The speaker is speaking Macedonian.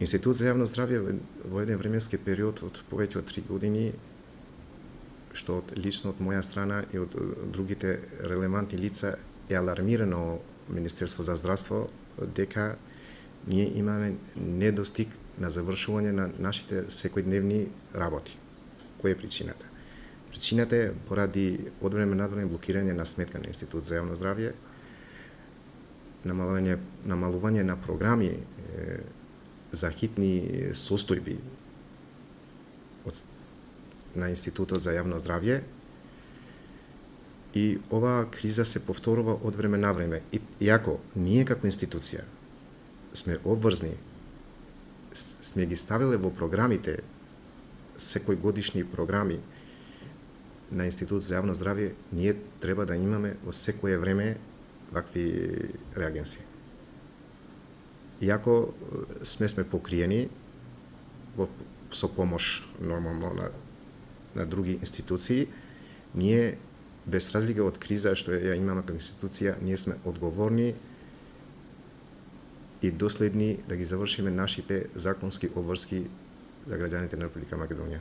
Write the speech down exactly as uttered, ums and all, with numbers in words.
Институт за јавно здравје во еден временски период од повеќе од три години, што од лично од моја страна и од другите релевантни лица е алармирано Министерство за здравство дека ние имаме недостиг на завршување на нашите секојдневни работи. Која е причината? Причината е поради од време на време блокирање на сметка на Институт за јавно здравје, намалување, намалување на програми е, за хитни состојби од, на Институтот за јавно здравје, и оваа криза се повторува од време на време. И, иако ние како институција сме обврзни, сме ги ставиле во програмите, секој годишни програми на Институт за јавно здравје, ние треба да имаме во секое време вакви реагенции. Иако сме сме покриени во, со помош нормално на, на други институции, ние без разлика од криза што ја имаме како институција, ние сме одговорни и доследни да ги завршиме нашите законски обврски за граѓаните на Република Македонија.